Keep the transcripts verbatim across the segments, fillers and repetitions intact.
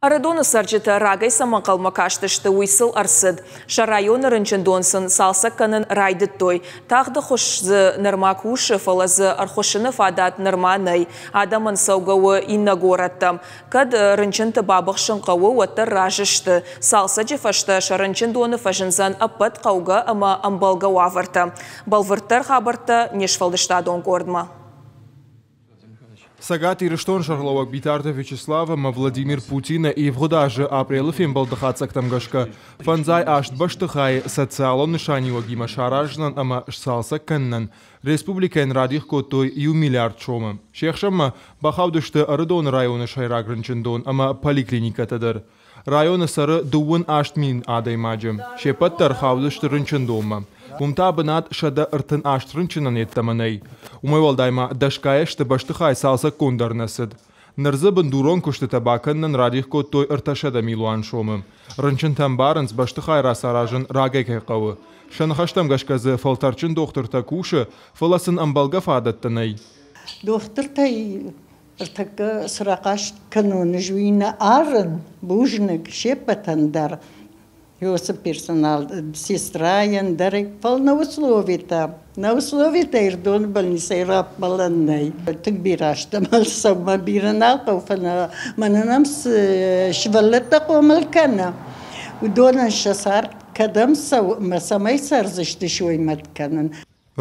Ӕрыдоны цӕрджытӕ рагӕй цӕмӕ ӕнхъӕлмӕ кастысты, уый сыл ӕрцыд. Сӕ районы рынчындон сын цалцӕг кӕнын райдыдтой. Тагъд ӕххуыс дзы нырма кусы, фӕлӕ дзы ӕрхуыссыны фадат нырма нӕй. Адӕмӕн цӕугӕ у иннӕ горӕттӕм. Кӕд рынчынты бабыхсын хъӕуы, уӕддӕр разы сты. Цалцӕджы фӕстӕ сӕ рынчындоны фӕзындзӕн ӕппӕт хъӕугӕ ӕмӕ ӕмбӕлгӕ уавӕртӕ. Бӕлвырддӕр хабӕрттӕ не сфӕлдыстадон къордмӕ. Цӕгат Ирыстоны сӕргълӕууӕг Битарты Вячеслав ӕмӕ Владимир Путины ивгъуыд азы апрелы фембӕлды хатдзӕгтӕм гӕсгӕ фӕндзай аст бӕстыхайы социалон нысаниуӕгимӕ саразынӕн ӕмӕ сцалцӕг кӕнынӕн республикӕйӕн радих кодтой иу миллиард сомы. Се хсӕнмӕ бахаудысты Ӕрыдоны районы сӕйраг рынчындон ӕмӕ поликлиникӕтӕ дӕр. Районы цӕры дыууын аст мин адӕймаджы. Се ппӕт дӕр хаудысты рынчындонмӕ. Уым та бынат сӕдӕ ӕртын аст рынчынӕн йеддӕмӕ нӕй. Уымӕй уӕлдай ма дӕсгай ӕзты бӕстыхай цалцӕггонд дӕр нӕ цыд. Ныр дзы бындурон куыстытӕ бакӕнынӕн радих кодтой ӕртӕсӕдӕ милуан сомы. Рынчынтӕ ӕмбарынц, бӕстыхай рацаразын рагӕй кӕй хъӕуы. Сӕ ныхӕстӕм гӕсгӕ дзы фӕлтӕрдджын дохтыртӕ кусы, фӕлӕ сын ӕмбӕлгӕ фадӕттӕ нӕй. Дохтыртӕй ӕртӕккӕ цы рахъаст кӕнон, ӕз уый нӕ арын, бузныг се ппӕтӕн дӕр. Уыцы персонал, сестрайӕн дӕр, фӕлӕ нӕ условитӕ, нӕ условитӕ Ирдоны больницӕйы раппӕлӕн нӕй. Тынг бирӕ стӕм, цӕугӕ бирӕ нал хъӕуы, фӕлӕ мӕнӕн ам цы сывӕллӕттӕ хъомыл кӕны, уыдонӕн сӕ цард кӕдӕм цӕуы ӕмӕ цӕмӕй цӕрдзысты, сой мӕт кӕнын.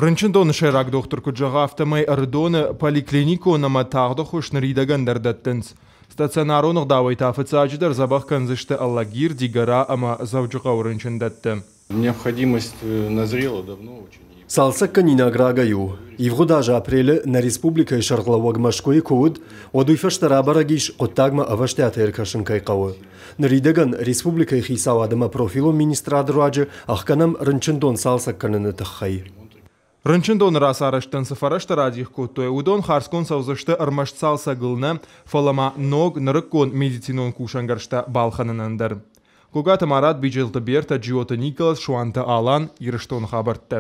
Рынчындоны сӕйраг дохтыр куыд зӕгъы, афтӕмӕй Ӕрыдоны поликлиникон ӕмӕ тагъд ӕххуыс ныридӕгӕн дӕр дӕттынц. Стационарон ӕгъдауӕй та фыццаджыдӕр дзӕбӕх кӕндзысты Алагир, Дигора ӕмӕ Дзӕуджыхъӕуы рынчындӕтты. Необходимость назрела давно очень. Цалцӕггӕнинаг рагӕй у. Ивгъуыд азы апрелы нӕ республикӕйы сӕргълӕууӕг Мӕскуыйы куы уыд, уӕд уый фӕстӕ рабӕрӕг ис, хъуыддагмӕ ӕвӕстиатӕй ӕркӕсын кӕй хъӕуы. Ныридӕгӕн республикӕйы хицауад ӕмӕ профилон министрады руаджы ӕхгӕнӕм рынчындон цалцӕг кӕныны тыххӕй. Рынчындоны рацарӕзтӕн цы фӕрӕзтӕ радих кодтой, уыдон хардзгонд цӕудзысты ӕрмӕст цалцӕгыл нӕ, фӕлӕ ма ног, нырыккон медицинон кусӕнгӕрзтӕ балхӕнынӕн дӕр. Гогаты Марат, Биджелты Берта, Джиоты Николас, Суанты Алан, Ирыстоны хабӕрттӕ.